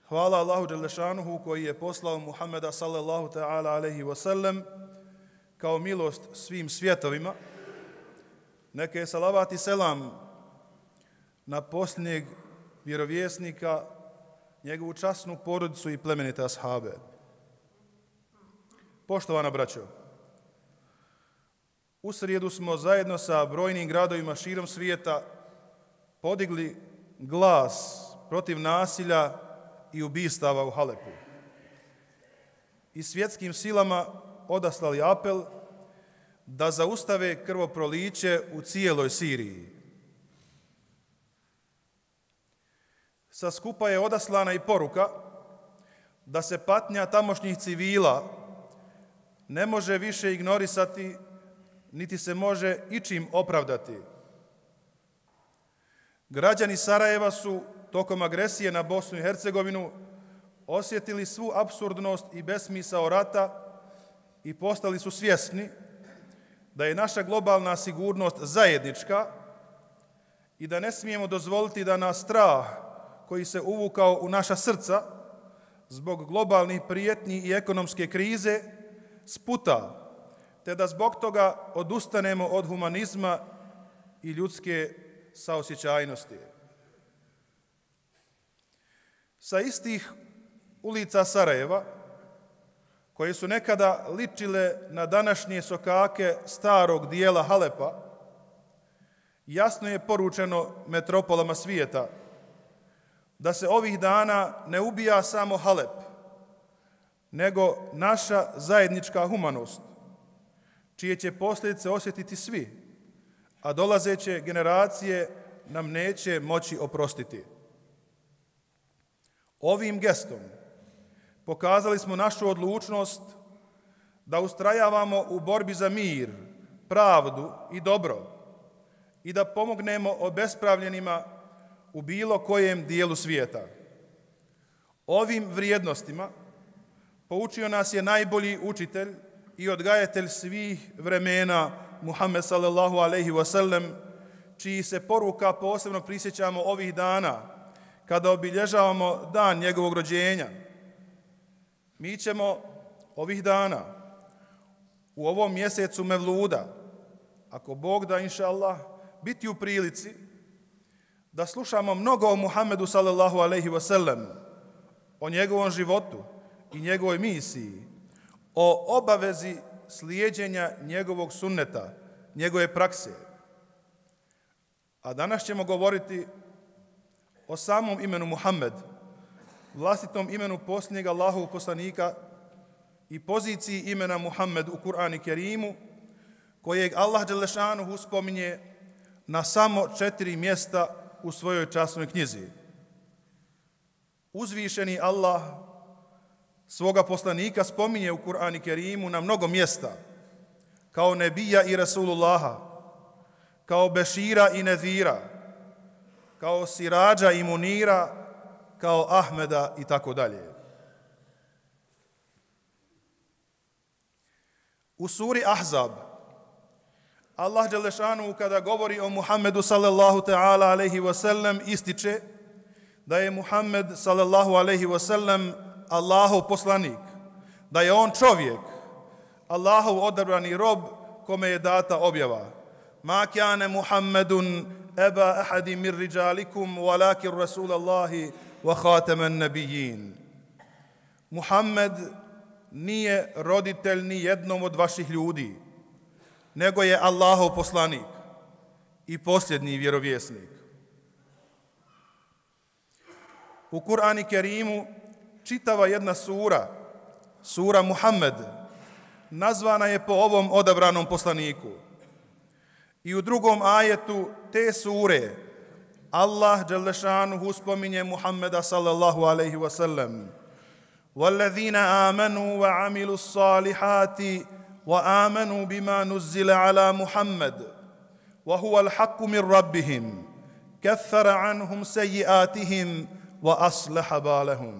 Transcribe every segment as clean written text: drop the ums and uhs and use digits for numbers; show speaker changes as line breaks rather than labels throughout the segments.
Hvala Allahu Đelešanuhu koji je poslao Muhammeda sallallahu ta'ala alaihi wasallam kao milost svim svjetovima. Neka je salavat i selam na posljednjeg vjerovjesnika, njegovu časnu porodicu i plemenite ashabe. Poštovana braćo, u srijedu smo zajedno sa brojnim gradovima širom svijeta podigli glas protiv nasilja i ubistava u Halepu i svjetskim silama odaslali apel da zaustave krvoproliće u cijeloj Siriji. Sa skupa je odaslana i poruka da se patnja tamošnjih civila ne može više ignorisati, niti se može ičim opravdati. Građani Sarajeva su tokom agresije na Bosnu i Hercegovinu osjetili svu apsurdnost i besmisao rata i postali su svjesni da je naša globalna sigurnost zajednička i da ne smijemo dozvoliti da nas strah koji se uvukao u naša srca zbog globalnih prijetnji i ekonomske krize sputa, te da zbog toga odustanemo od humanizma i ljudske saosjećajnosti. Sa istih ulica Sarajeva, koje su nekada ličile na današnje sokake starog dijela Halepa, jasno je poručeno metropolama svijeta da se ovih dana ne ubija samo Halep, nego naša zajednička humanost, čije će posljedice osjetiti svi, a dolazeće generacije nam neće moći oprostiti. Ovim gestom pokazali smo našu odlučnost da ustrajavamo u borbi za mir, pravdu i dobro i da pomognemo obespravljenima u bilo kojem dijelu svijeta. Ovim vrijednostima poučio nas je najbolji učitelj i odgajatelj svih vremena Muhammed sallallahu alaihi wasallam, čiji se poruka posebno prisjećamo ovih dana kada obilježavamo dan njegovog rođenja. Mi ćemo ovih dana u ovom mjesecu Mevluda, ako Bog da inša Allah, biti u prilici da slušamo mnogo o Muhammedu sallallahu alaihi wasallam, o njegovom životu i njegovoj misiji, o obavezi slijeđenja njegovog sunneta, njegove prakse. A danas ćemo govoriti o samom imenu Muhammed, vlastitom imenu posljednjeg Allahovog poslanika i poziciji imena Muhammed u Kur'anu Kerimu, kojeg Allah Đelešanuhu spominje na samo 4 mjesta u svojoj časnoj knjizi. Uzvišeni Allah svoga poslanika spominje u Kur'anu Kerimu na mnogo mjesta, kao nebija i Rasulullaha, kao Bešira i Nezira, kao Sirađa i Munira, kao Ahmeda i tako dalje. U suri Ahzab, Allah Đelešanu kada govori o Muhammedu sallallahu ta'ala alaihi wasallam ističe da je Muhammed sallallahu alaihi wasallam Allahov poslanik, da je on čovjek, Allahov odabrani rob kome je data objava. Ma kjane Muhammedun eba ahadi mir riđalikum walakin Rasulallahi wa khataman nabijin. Muhammed nije roditelj ni jednom od vaših ljudi, nego je Allahov poslanik i posljednji vjerovjesnik. U Kur'anu Kerimu čitava jedna sura Muhammed, nazvana je po ovom odabranom poslaniku. I u drugom ajetu te sure Allah Đelešanuhu spominje Muhammeda sallallahu alaihi wasallam. وَالَّذِينَ آمَنُوا وَعَمِلُوا الصَّالِحَاتِ وَآمَنُوا بِمَا نُزِّلَ عَلَى مُحَمَّدٍ وَهُوَ الْحَقُّ مِنْ رَبِّهِمْ كَثَّرَ عَنْهُمْ سَيِّئَاتِهِمْ وَأَصْلَحَ بَالَهُمْ.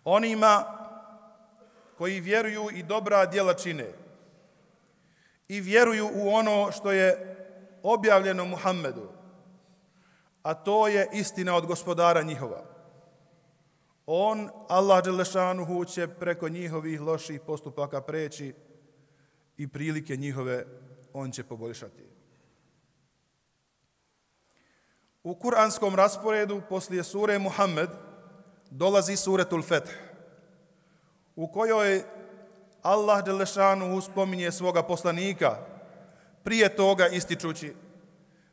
Onima koji vjeruju i dobra djela čine i vjeruju u ono što je objavljeno Muhammedu, a to je istina od gospodara njihova. on, Allah dželešanuhu, će preko njihovih loših postupaka preći i prilike njihove on će poboljšati. U kuranskom rasporedu poslije sure Muhammed dolazi suretul Feth, u kojoj Allah dželešanuhu spominje svoga poslanika, prije toga ističući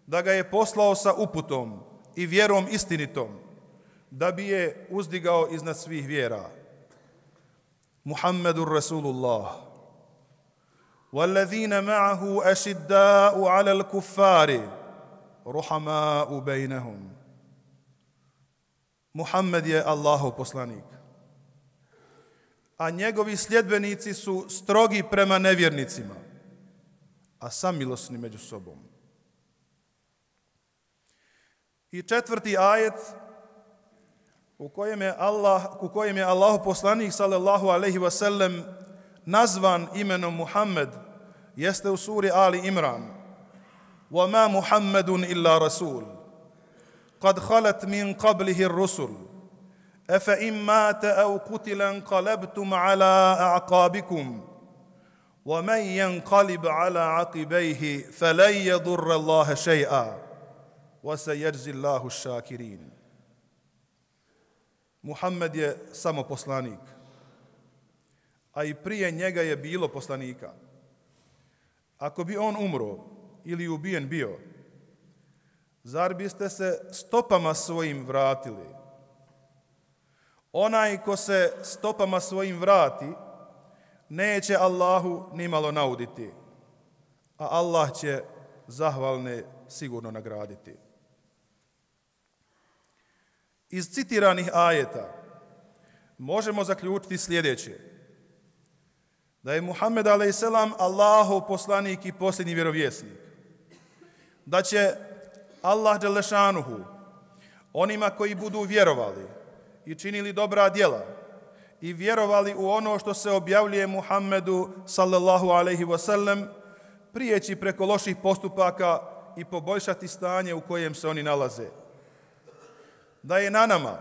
da ga je poslao sa uputom i vjerom istinitom, da bi je uzdigao iznad svih vjera. Muhammedur Rasulullah. وَالَّذِينَ مَعَهُ أَشِدَّاءُ عَلَى الْكُفَّارِ رُحَمَاءُ بَيْنَهُمْ. Muhammed je Allahov poslanik, a njegovi sljedbenici su strogi prema nevjernicima, a samilosni među sobom. I četvrti ajet u kojem je Allahov poslanik sallallahu alejhi ve sellem nazvan imenom Muhammed jeste u suri Ali Imran. وَمَا مُحَمَّدٌ إِلَّا رَسُولٌ قَدْ خَلَتْ مِنْ قَبْلِهِ الرُّسُلُ أَفَإِنْ مَاتَ أَوْ قُتِلَ انقَلَبْتُمْ عَلَى أَعْقَابِكُمْ وَمَنْ يَنْقَلِبْ عَلَى عَقِبَيْهِ فَلَنْ يَضُرَّ اللَّهَ شَيْئًا وَسَيَجْزِي اللَّهُ الشَّاكِرِينَ. Muhammed je samo poslanik, a i prije njega je bilo poslanika. Ako bi on umro ili ubijen bio, zar biste se stopama svojim vratili? Onaj ko se stopama svojim vrati, neće Allahu nimalo nauditi, a Allah će zahvalne sigurno nagraditi. Iz citiranih ajeta možemo zaključiti sljedeće: da je Muhammed a.s. Allahov poslanik i posljednji vjerovjesnik, da će Allah dželešanuhu onima koji budu vjerovali i činili dobra djela i vjerovali u ono što se objavljuje Muhammedu sallallahu alejhi ve sellem, prijeći preko loših postupaka i poboljšati stanje u kojem se oni nalaze. Da je na nama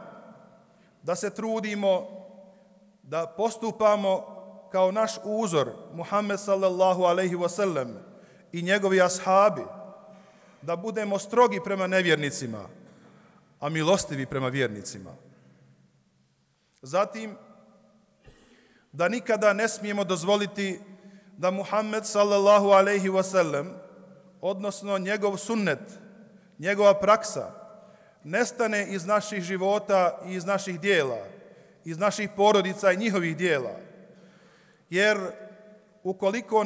da se trudimo da postupamo kao naš uzor Muhammed sallallahu alejhi ve sellem i njegovi ashabi, da budemo strogi prema nevjernicima, a milostivi prema vjernicima. Zatim, da nikada ne smijemo dozvoliti da Muhammed sallallahu alejhi ve sellem, odnosno njegov sunnet, njegova praksa, nestane iz naših života i iz naših dijela, iz naših porodica i njihovih dijela. Jer ukoliko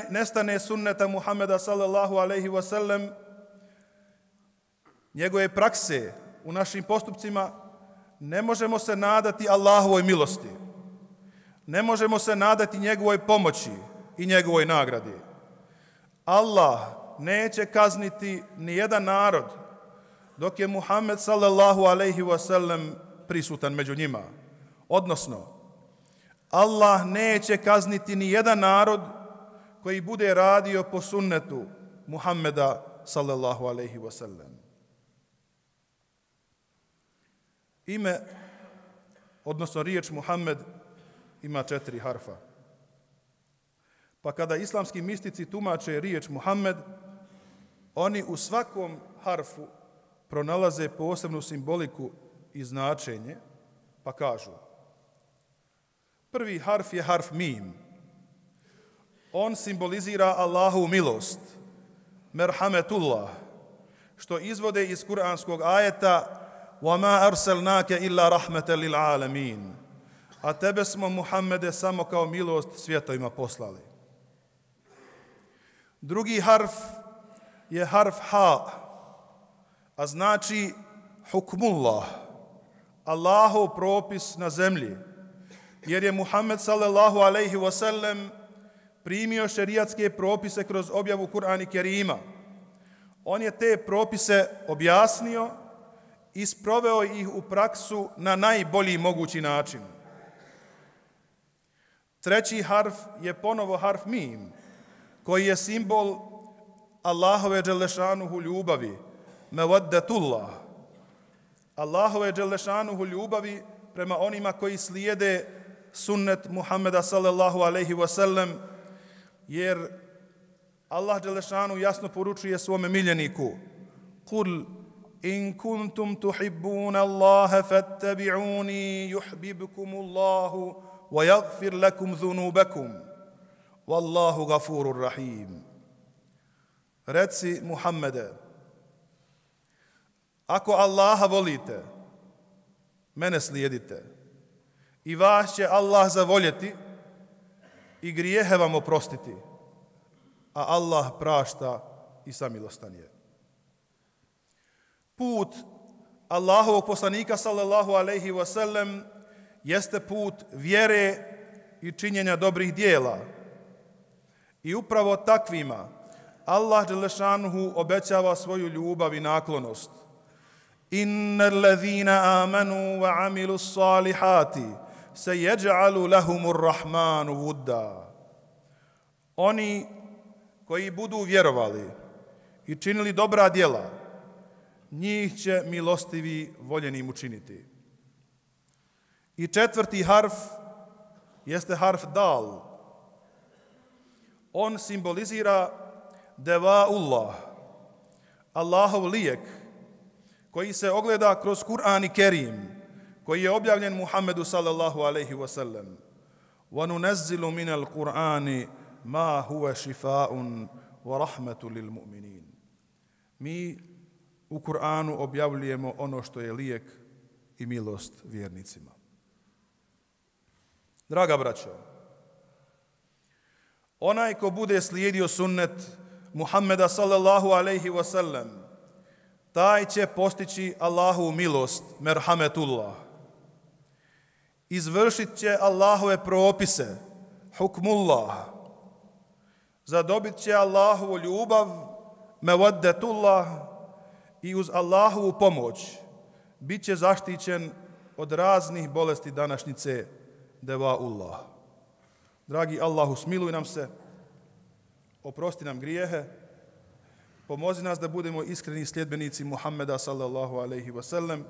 nestane sunneta Muhammeda sallallahu alejhi ve sellem, njegove prakse u našim postupcima, ne možemo se nadati Allahovoj milosti. Ne možemo se nadati njegovoj pomoći i njegovoj nagradi. Allah neće kazniti ni jedan narod dok je Muhammed sallallahu alejhi ve sellem prisutan među njima. Odnosno, Allah neće kazniti ni jedan narod koji bude radio po sunnetu Muhammeda sallallahu alejhi ve sellem. Ime, odnosno riječ Muhammed, ima 4 harfa. Pa kada islamski mistici tumače riječ Muhammed, oni u svakom harfu pronalaze posebnu simboliku i značenje, pa kažu: prvi harf je harf mim. On simbolizira Allahovu milost, merhametullah, što izvode iz kuranskog ajeta وَمَا أَرْسَلْنَاكَ إِلَّا رَحْمَةً لِلْعَالَمِينَ. A tebe smo, Muhammede, samo kao milost svjetovima poslali. Drugi harf je harf ha, a znači hukmullah, Allahov propis na zemlji, jer je Muhammed sallallahu alejhi ve sellem primio šerijatske propise kroz objavu Kur'ana Kerima. On je te propise objasnio i sproveo ih u praksu na najbolji mogući način. Treći harf je ponovo harf mim, koji je simbol Allahove dželešanuhu ljubavi, mevaddetullah. Allahove dželešanuhu ljubavi prema onima koji slijede sunnet Muhammeda sallallahu alaihi wasallam, jer Allah dželešanu jasno poručuje svome miljeniku: Kul in kuntum tuhibbuna Allaha fattabi'uni yuhibbukum Allahu wa yaghfir lakum dhunubakum wallahu ghafurur rahim. Reci Muhammede, ako Allaha volite, mene slijedite i vas će Allah zavoljeti i grijehe vam oprostiti, a Allah prašta i samilostan je. Put Allahovog poslanika sallallahu alejhi ve sellem jeste put vjere i činjenja dobrih dijela. I upravo takvima Allah dželešanuhu obećava svoju ljubav i naklonost. Innal ladzina amanu wa amilus salihati sayaj'alu lahumur rahmanu wudda. Oni koji budu vjerovali i činili dobra djela, njih će milostivi voljenim učiniti. I četvrti harf jeste harf dal. On simbolizira devaullah, Allahov lijek, koji se ogleda kroz Kur'an i Kerim, koji je objavljen Muhammedu sallallahu alaihi wasallam. وَنُنَزِّلُ مِنَ الْقُرْآنِ مَا هُوَ شِفَاءٌ وَرَحْمَةٌ لِلْمُؤْمِنِينَ. Mi u Kur'anu objavljujemo ono što je lijek i milost vjernicima. Draga braćo, onaj ko bude slijedio sunnet Muhammeda sallallahu alaihi wasallam, taj će postići Allahovu milost, merhametullah. Izvršit će Allahove propise, hukmullah. Zadobit će Allahovu ljubav, mevaddetullah, i uz Allahovu pomoć bit će zaštićen od raznih bolesti današnjice, devaullah. Dragi Allahu, smiluj nam se, oprosti nam grijehe, pomozi nas da budemo iskreni sljedbenici Muhammeda sallallahu alaihi wasallam,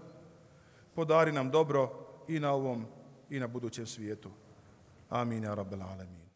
podari nam dobro i na ovom i na budućem svijetu. Amin, ja rabbel alamin.